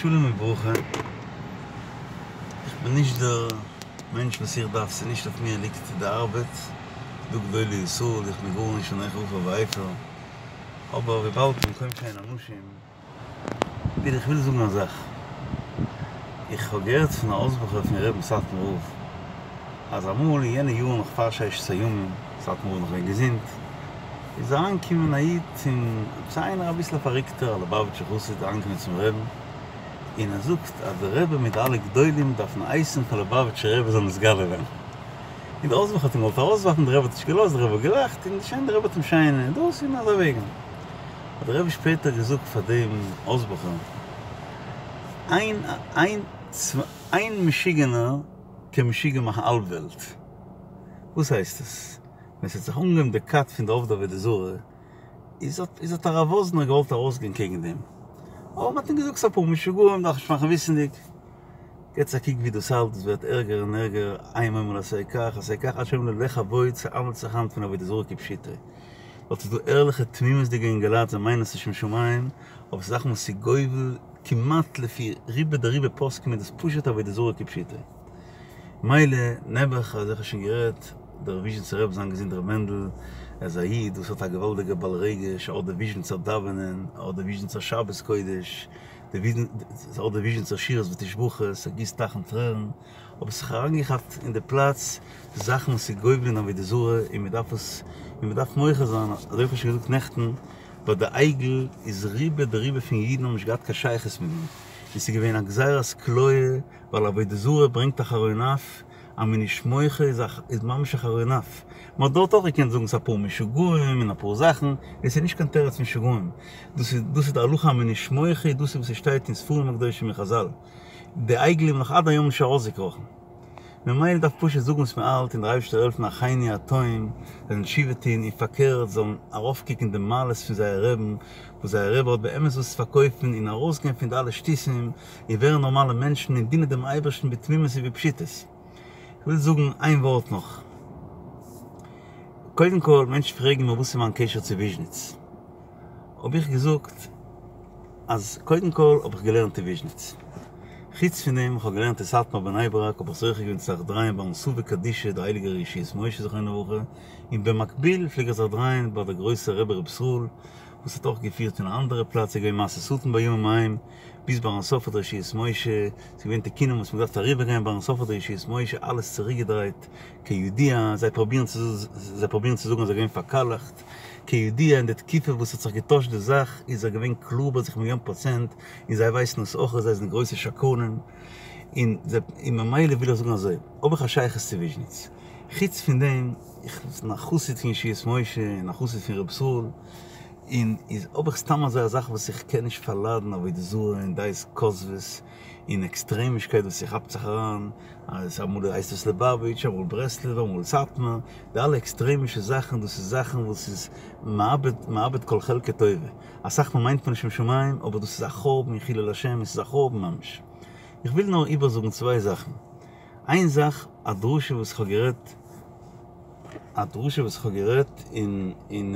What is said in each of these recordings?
שלום וברכה, איך בין נישט דער מענטש וואס איך דארף, ס'איז נישט אויף מיר ליגט די ארבעט, ס'דא גדולי ישראל, איך בין גארנישט אנכי עפר ואפר, אבער וויבאלד במקום שאין אנשים, וויל איך וויל זאגן א זאך, איך האב געהערט פון א הויז בחור פון רבי'ן סאטמאר רב, אז אמאל אין יענע יארן נאך פאר ששת הימים, סאטמאר רב נאך געווען געזונט, איז אריינגעקומען א איד צום, עפעס איינער אביסל א פארריקטער א ליובאוויטשער חסיד אריינגעקומען צום רבי'ן, און ער זאגט אז דער רבי מיט די אלע גדולים דארפן הייסן פאר ליובאוויטשער רבי זאל נתגלה ווערן. און דער הויז בחור האט אים געוואלט ארויסווארפן, דער רבי האט נישט געלאזט, דער רבי האט געלאכט, און שוין דער רבי האט אים שיין דאס און אזוי וועגן. האט דער רבי שפעטער געזאגט פאר דעם הויז בחור, איין איין איין משוגענער קען משוגע מאכן האלב וועלט. וואס הייסט עס? ווען ס'האט זיך אנגעהויבן די כת פון די עובדי עבודה זרה, איז האט איז האט הרב וואזנער געוואלט ארויסגיין קעגן דעם, אבער מ'האט אים געזאגט ס'איז אפאר משוגעים דארף נישט מאכן וויסענדיג. געטס א קוק ווי דאס האלט, עס ווערט ערגער און ערגער, הם אומרים עשה כך עשה כך, עד שאומרים לך אבוד, ס'האנדלט זיך היינט פון עבודה זרה כפשוטו. דארט איז דא ערליכע תמימות'דיגע אינגעלייט זיי מיינען עס לשם שמים, אבער ס'איז זאכן וואס איז גובל כמעט לפי רובא דרובא פוסקים איז דאס פשוט עבודה זרה כפשוטו. מילא, נעבעך, אזוי האב איך שוין גערעדט, דער וויזשניצער רבי זיין געזונט ר' מענדל, ער איז א איד וואס האט א געוואלדיגע בעל רגש, ער האט די וויזשניצער דאווענען, ער האט די וויזשניצער שבת קודש, ער האט די וויזשניצער שירות ותשבחות, ער גיסט טייכן טרערן, אבער ס'זיך אריינגעכאפט אין די פלאץ זאכן וואס איז גובל אין עבודה זרה און מען דארף עס, און מען דארף מוחה זיין, אזוי האב איך שוין געזאגט נעכטן, ביי די עגל איז רובא דרובא פון אידן האבן נישט געהאט קיין שייכות מיט דעם, און ס'איז געווען א גזירת כליה ווייל עבודה זרה ברענגט א חרון אף, אז מ'איז נישט מוחה איז א איז ממש א חרון אף. מ'האט דארט אויך געקענט זאגן ס'איז אפאר משוגעים און אפאר זאכן, עס איז נישט קיין תירוץ משוגעים, דאס איז דאס איז די הלכה אז מ'איז נישט מוחה, דאס איז וואס ס'שטייט אין ספרים הקדושים און חזל. די עגל איז נאך עד היום נישט ארויסגעקראכן. ממילא דארף פשוט זאגן וואס מ'האלט און דער אייבערשטער זאל העלפן אחינו הטועים זאלן תשובה טון און פארקערט זאלן ארויפקוקן די מעלות פון זייער רעבן וואס זייער רבי האט באמת וואס צו פארקויפן און ארויסגיין פון די אלע שטותים און ווערן נארמאלע מענטשן און דינען דעם אייבערשטן בתמימות ובפשיטות. איך וויל זאגן איין ווארט נאך. קודם כל, מענטשן פרעגן מיר וואס איז מיין קשר צו וויזשניץ. האב איך געזאגט אז קודם כל האב איך געלערנט אין וויזשניץ. חוץ פון דעם איך האב געלערנט אין סאטמאר בני ברק האב איך זוכה געווען צו זיך דרייען ביים סבא קדישא דער הייליגער ישועות משה זכרונו לברכה, און במקביל פלעג איך זיך דרייען ביי דער גרויסער רבי ר' ישראל וואס האט אויך געפירט אין א אנדערע פלאץ, איז געווען מעשה שטן בימים ההם, ביז ביים סוף האט דער ישועות משה, ס'איז געווען תיקונים וואס מ'האט געדארפט אריבערגיין, ביים סוף האט דער ישועות משה אלעס צוריקגעדרייט, כידוע, זיי פרובירן צו זיי פרובירן צו זאגן אז ער איז געווען פארקאלעכט, כידוע אין די תקופה וואס האט זיך געטוישט די זאך איז ער געווען קלאר ביי זיך מיליאן פראצענט, און זיי ווייסן עס אויך אז זיי זענען גרויסע שקרנים, און זיי און ממילא וויל איך זאגן אזוי, האב איך א שייכות צו וויזשניץ, חוץ פון דעם, איך בין א חסיד פון ישועות משה און א חסיד פון ר' ישראל, און איז האב איך סתם אזוי א זאך וואס איך קען נישט פארליידן עבודה זרה און דעות כוזבות און עקסטרעמישקייט וואס ס'כאפט זיך אריין אז אמאל הייסט עס ליבאוויטש אמאל ברסלב אמאל סאטמאר די אלע עקסטרעמישע זאכן דאס איז זאכן וואס איז מאבד מאבד כל חלקה טובה אסאך מאל מיינט מען לשם שמים אבער דאס איז א חורבן און חילול השם עס איז א חורבן ממש איך וויל נאר איבערזאגן צוויי זאכן איין זאך א דרשה וואס איך האב גערעדט א דרשה וואס איך האב גערעדט אין אין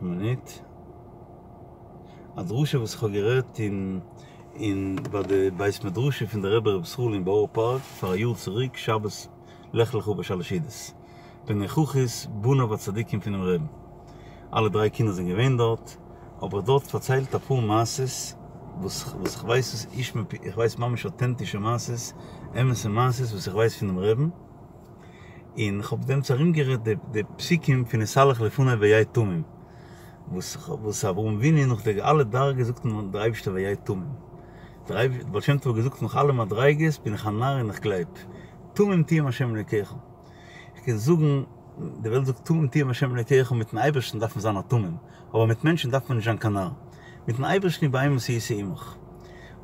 מינוט א דרשה וואס איך האב גערעדט אין אין ביי די בית מדרשו פון די רבי ר' ישראל אין בארא פארק פאר א יאר צוריק שבת לך לך ביי שלש סעודות בנוכחות בניו הצדיקים פונעם רעבן אלע דריי קינדער זענען געווען דארט האב איך דארט פארציילט אפאר מעשות וואס וואס איך ווייס וואס איש מפי איך ווייס ממש אוטענטישע מעשות אמת'ע מעשות וואס איך ווייס פונעם רעבן און איך האב דעמאלטס ארומגערעדט די די פסוקים פון התהלך לפני והיה תמים וואס וואס אברהם אבינו נאך די אלע דרגות זאגט אים דער אייבערשטער והיה תמים דער בעל שם טוב האט געזאגט נאך אלע מדריגות בין איך א נאר און איך גלייב תמים תהיה עם השם אלוקיך איך קען זאגן די וועלט זאגט תמים תהיה עם השם אלוקיך מיטן אייבערשטן דארף מען זיין א תמים אבער מיט מענטשן דארף מען נישט זיין קיין נאר מיטן אייבערשטן ובאימתי הייתי עמך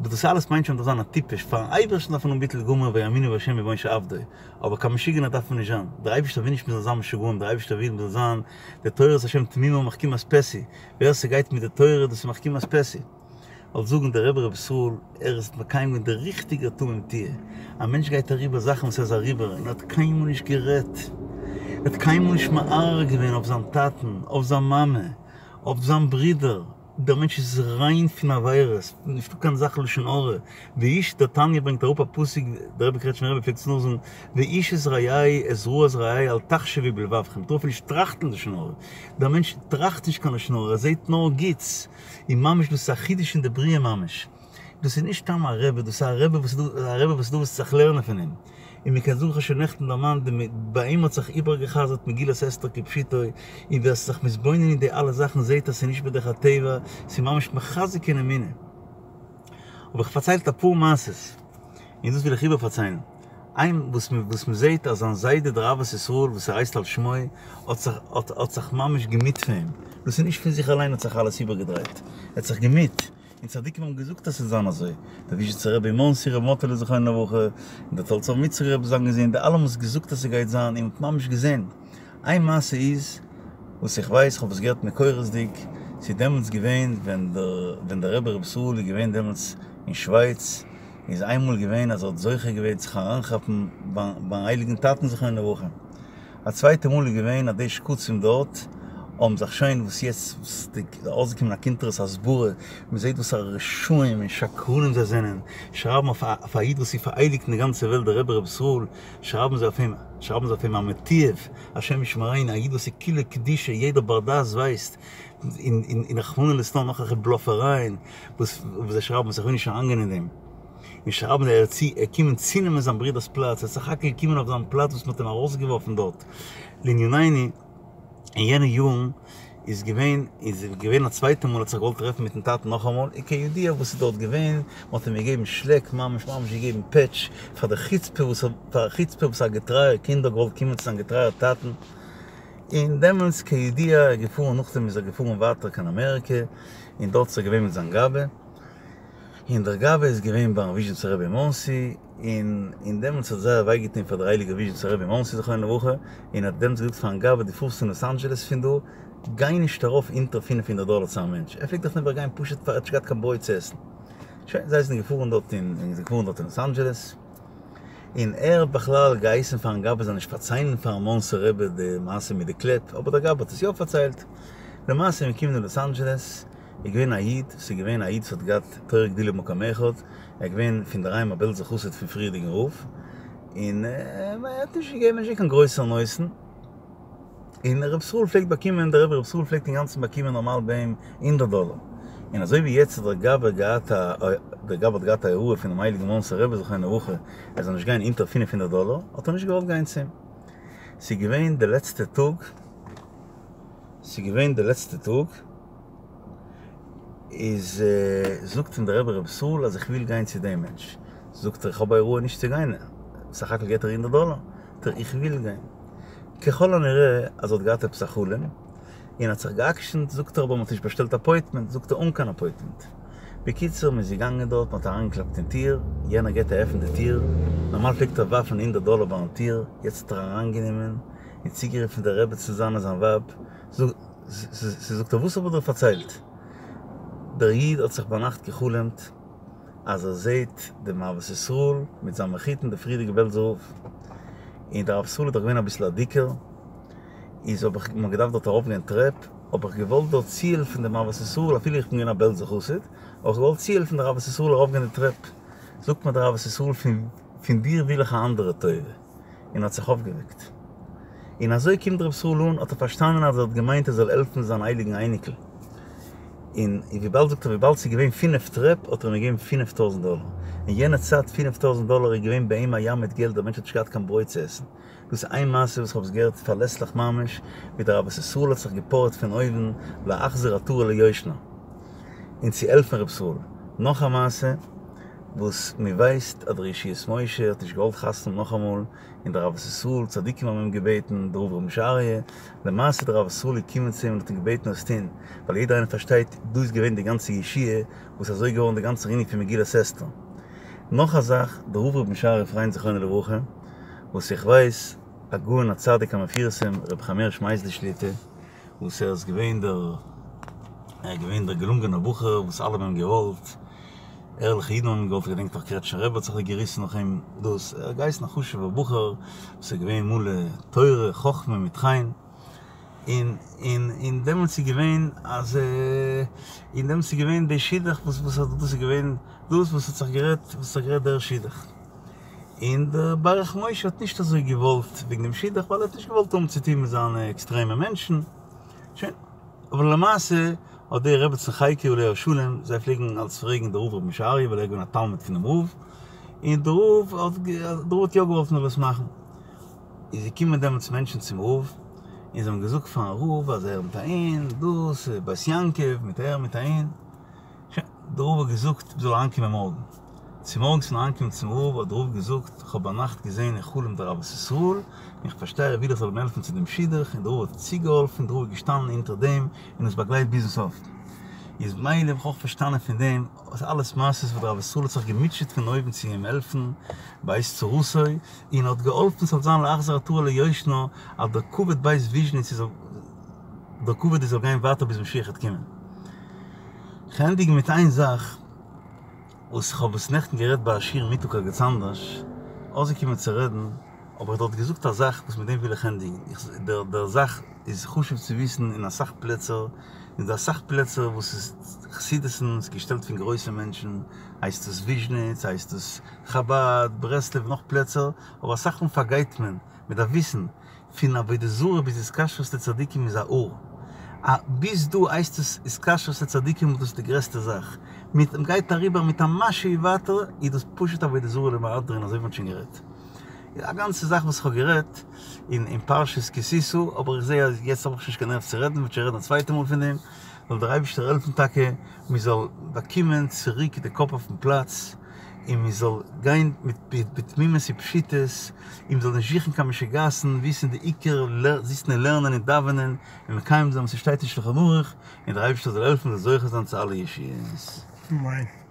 אבער דאס אלעס מיינט שוין דארף זיין א טיפש פארן אייבערשטן דארף מען האבן ביטול גמור ויאמינו בהשם ובמשה עבדו אבער קיין משוגענער דארף מען נישט זיין דער אייבערשטער וויל נישט מען זאל זיין משוגעים דער אייבערשטער וויל מען זאל זיין די תורת השם תמימה מחכימת פתי ווער ס'גייט מיט די תורה דאס איז מחכימת פתי. זאל זאגן דער רבי רבי ישראל ער איז מקיים געווען די ריכטיגע תמים תהיה, א מענטש גייט אריבער זאכן וואס ער איז אריבער און ער האט קיינמאל נישט גערעדט, ער האט קיינמאל נישט מערער געווען אויף זיין טאטן, אויף זיין מאמע, אויף זיין ברודער. דער מענטש איז ריין פון עבירות, נישטא קיין זאך לשון הרע, ואיש דער תניא ברענגט אראפ א פסוק, דער רבי קרעטשניפער רבי פלעגט עס נאכזאגן, ואיש את רעהו את רעת רעהו אל תחשבו בלבבכם, מ'טאר אפילו נישט טראכטן לשון הרע, דער מענטש טראכט נישט קיין לשון הרע, ער זעט נאר גוטס, און ממש דאס איז א חידוש אין די בריאה ממש. דאס איז נישט סתם א רבי, דאס איז א רבי וואס איז דא, א רבי וואס איז דא וואס זיך לערנען פון אים. און מען קען זאגן, כ'האב שוין נעכטן דערמאנט, די ביי אים האט זיך איבערגע'חזר'ט מגילת אסתר כפשוטו, און ווער ס'איז זיך מתבונן אין די אלע זאכן זעט אז ס'איז נישט בדרך הטבע, ס'איז ממש מחזק אין אמונה. האב איך פארציילט אפאר מעשות, און דאס וויל איך איבערפארציילן. איין וואס וואס מען זעט אז זיין זיידע דער אהבת ישראל וואס ער הייסט על שמו האט זיך האט האט זיך ממש געמיט פאר אים, דאס איז נישט פון זיך אליין האט זיך אלעס איבערגעדרייט, ער האט זיך געמיט. און צדיקים האבן געזאגט אז ס'זאל זיין אזוי, דער וויזשניצער רבי אין מאנסי, רבי מאטעלע זכרונו לברכה, און דער תולדות אברהם יצחק רבי זיין געזונט, די אלע האבן עס געזאגט אז ס'גייט זיין, און מ'האט ממש געזען. איין מעשה איז, וואס איך ווייס, כ'האב עס געהערט מקורות'דיג, ס'איז דעמאלטס געווען ווען דער ווען דער רבי ר' ישראל איז געווען דעמאלטס אין שווייץ, איז איינמאל געווען אז ער האט זוכה געווען זיך אריינכאפן ביים הייליגן טאטן זכרונו לברכה, א צווייטע מאל איז געווען אז די שקצים דארט האבן זיך שוין וואס יעצט איז ארויסגעקומען א קונטרס הסברה, מען זעט וואס א רשעים און שקרנים זיי זענען, שרייבן אויף א איד וואס איז פארהייליגט אין די גאנצע וועלט דער רבי ר' ישראל, שרייבן זיי אויף אים, שרייבן זיי אויף אים א מתועב, השם ישמרינו, א איד וואס איז כולו קדושה, יעדער בר דעת ווייסט, און רחמנא ליצלן נאך אזעלכע בלאפערייען וואס זיי שרייבן וואס איך וויל נישט אריינגיין אין דעם. און שרייבן ער איז געקומען צונעמען זיין ברודער'ס פלאץ, ער איז סך הכל געקומען אויף זיין פלאץ וואס מ'האט אים ארויסגעווארפן דארט. לענינינו, אין יענע יארן איז געווען, איז געווען א צווייטע מאל האט זיך געוואלט טרעפן מיטן טאטן נאכאמאל, און כידוע וואס איז דארט געווען, מ'האט אים געגעבן שלעק, ממש ממש געגעבן פעטש, פאר די חוצפה וואס פאר א חוצפה וואס א געטרייער קינד האט געוואלט קומען צו זיין געטרייער טאטן. און דעמאלטס כידוע איז געפארן נאכדעם איז ער געפארן ווייטער קיין אמעריקע, און דארט איז ער געווען מיט זיין גבאי. און דער גבאי איז געווען ביים וויזשניצער רבי אין מאנסי, און און דעמאלטס האט זייער וויי געטון פאר דער הייליגער וויזשניצער רבי אין מאנסי זכרונו לברכה, און האט דעמאלטס געזאגט פארן גבאי דו פארסט אין לאס אנדזשעלעס פון דא, גיי נישט ארויף אונטער פינף הונדערט דאלער צו א מענטש, ער פלעגט דאך נעבעך גיין פשוט פאר ער האט נישט געהאט קיין ברויט צו עסן. שוין, זיי זענען געפארן דארט אין זענען געפארן דארט אין לאס אנדזשעלעס, און ער האט בכלל געהייסן פארן גבאי זאל נישט פארציילן פארן מאנסער רבי די מעשה מיט די קלעפ, אבער דער גבאי האט עס יא פארציילט. למעשה איז מען געקומען אין לאס אנדזשעלעס, איז געווען א איד, ס'איז געווען א איד וואס האט געהאט תורה וגדולה במקום אחד, ער איז געווען פון דער היים א בעלזער חסיד פון פריערדיגן רב, און ער האט נישט געגעבן נישט קיין גרויסע נותן, און ר' ישראל פלעגט באקומען, דער רבי ר' ישראל פלעגט אינגאנצן באקומען נארמאל ביי אים הונדערט דאלער, און אזוי ווי יעצט האט דער גבאי געהאט א, דער גבאי האט געהאט א הוראה פונעם הייליגן מאנסער רבי זכרונו לברכה, ער זאל נישט גיין אונטער פינף הונדערט דאלער, האט ער נישט געוואלט גיין צו אים. ס'איז געווען די לעצטע טאג. ס'איז געווען די לעצטע טאג, איז זאגט אים דער רבי ר' ישראל אז איך וויל גיין צו דעם מענטש, זאגט ער איך האב א הוראה נישט צו גיין, סך הכל געט ער הונדערט דאלער, זאגט ער איך וויל גיין, ככל הנראה אז ער האט געהאט עפעס א חלום, און האט זיך גע'עקשנ'ט, זאגט ער אבער מ'האט נישט באשטעלט אפוינטמענט, זאגט ער אן קיין אפוינטמענט, בקיצור מ'איז געגאנגען דארט, מ'האט אריינגעקלאפט אין טיר, יענער געט א עפן די טיר, נארמאל פלעגט ער ווארפן הונדערט דאלער ביים טיר, יעצט האט ער אריינגענומען, און צוגערופן די רעבעצן זיינע זיין ווייב, זאגט ער וואס האב איך דיר פארציילט? דער איד האט זיך ביינאכט גע'חלומ'ט אז ער זעהט דעם אהבת ישראל מיט זיין מחותן דער פריערדיגער בעלזער רב, און דער אהבת ישראל איז דאך געווען אביסל א דיקער, איז האב איך מ'האט געדארפט דארט ארויף גיין טרעפ, האב איך געוואלט דארט צוהעלפן דעם אהבת ישראל אפילו איך בין געווען א בעלזער חסיד, האב איך געוואלט צוהעלפן דער אהבת ישראל ארויף גיין די טרעפ, זאגט מיר דער אהבת ישראל פון דיר וויל איך א אנדערע טובה. און האט זיך אויפגעוועקט. און אזוי קומט ר' ישראל אן, האט ער פארשטאנען אז ער האט געמיינט ער זאל העלפן זיין הייליגן אייניקל. און וויבאלד זאגט ער וויבאלד ס'איז געווען פינף טרעפ האט ער אים געגעבן פינף טויזנט דאלער. אין יענע צייט פינף טויזנט דאלער איז געווען ביי אים א ים מיט געלט, דער מענטש האט נישט געהאט קיין ברויט צו עסן. דאס איז איין מעשה וואס כ'האב עס געהערט פארלעסליך ממש, ווי דער אהבת ישראל האט זיך געפארעט פון אויבן להחזיר עטרה ליושנה, און צו העלפן ר' ישראל. נאך א מעשה. וואס מען ווייסט אז דער ישועות משה האט נישט געוואלט חתונה האבן נאכאמאל, און דער אהבת ישראל צדיקים האבן אים געבעטן, דער רב ר' משה אריה, למעשה דער אהבת ישראל איז געקומען צו אים און האט אים געבעטן עס טון, ווייל יעדער איינער פארשטייט דא איז געווען די גאנצע ישועה וואס אזוי געווארן די גאנצע ענין פון מגילת אסתר. נאך א זאך, דער רב ר' משה אריה פריינד זכרונו לברכה, וואס איך ווייס, הגאון הצדיק המפורסם רבי חיים הערש מייזליש שליט"א, וואס ער איז געווען דער ער איז געווען דער געלונגענער בחור וואס אלע האבן אים געוואלט, ערליכע אידן האבן אים געוואלט, איך געדענק נאך קרעטשער רבי האט זיך געריסן נאך אים, דאס ער האט געהייסן א חשוב'ער בחור וואס איז געווען מלא תורה חכמה מיט חן, און און און דעמאלטס איז געווען אז און דעמאלטס איז געווען די שידוך וואס וואס האט דאס איז געווען דאס וואס האט זיך גערעדט וואס האט זיך גערעדט דער שידוך. און דער ברך משה האט נישט אזוי געוואלט וועגן דעם שידוך ווייל ער האט נישט געוואלט האבן צוטון מיט זיינע עקסטרעמע מענטשן. שוין. אבער למעשה האט די רעבעצן חייקי עליה השלום, זיי פלעגן אלץ פרעגן די רב רבי משה אריה ווייל ער איז געווען א תלמיד פונעם רב, און די רב האט די רב האט יא געוואלט מ'זאל עס מאכן. איז געקומען דעמאלטס מענטשן צום רב, און זיי האבן געזאגט פארן רב אז ער מיט אהין, דאס בית יעקב מיט ער מיט אהין. שוין, די רב האט געזאגט מ'זאל אריינקומען מארגן. צומארגנס פון אריינקומען צום רב האט די רב געזאגט, איך האב ביינאכט געזען אין חלום דער אהבת ישראל, און איך פארשטיי ער וויל איך זאל אים העלפן צו דעם שידוך, און די רב האט צוגעהאלפן, די רב איז געשטאנען אונטער דעם און עס באגלייט ביזן סוף. איז מילא האב איך אויך פארשטאנען פון דעם אז אלעס מעשות וואס דער אהבת ישראל האט זיך געמוטשעט פון אויבן צו אים העלפן בעת צרתו, און האט געהאלפן ס'זאל זיין להחזיר עטרה ליושנה, אז דער כבוד בית וויזשניץ איז דער כבוד איז זאל גיין ווייטער ביז משיח וועט קומען. כ'ענדיג מיט איין זאך וואס כ'האב עס נעכטן גערעדט ביי א שיעור מיטאג ערגעץ אנדערש, אויסגעקומען צו רעדן, האב איך דארט געזאגט א זאך וואס מיט דעם וויל איך ענדיגן, דער דער זאך איז חשוב צו וויסן אין אסאך פלעצער, איז דא אסאך פלעצער וואס איז חסידות'ן, ס'איז געשטעלט פון גרויסע מענטשן, הייסט עס וויזשניץ, הייסט עס חבד, ברסלב, נאך פלעצער, אבער אסאך מאל פארגייט מען, מען דארף וויסן, פון עבודה זרה ביז התקשרות לצדיקים איז א האר. א ביז דא הייסט עס התקשרות לצדיקים איז דאס די גרעסטע זאך. מיט מ'גייט אריבער מיט א משהו ווייטער איז דאס פשוט עבודה זרה למהדרין אזוי ווי מ'האט שוין גערעדט. א גאנצע זאך וואס כ'האב גערעדט אין אין פרשת כי תשא, אבער איך זעה אז יעצט האב איך שוין נישט קיין נערוו צו רעדן, מ'וועט שוין רעדן א צווייטע מאל פון דעם. זאל דער אייבישטער העלפן טאקע מ'זאל באקומען צוריק די קאפ אויפן פלאץ. און מען זאל גיין מיט בתמימות ופשיטות, און מען זאל נישט זוכן קיין משוגעת'ן, וויסן די עיקר, זיצן און לערנען און דאווענען, און מקיים זיין וואס עס שטייט אין שלחן ערוך, און דער אייבערשטער זאל העלפן מען זאל זוכה זיין צו אלע ישועות. אמן.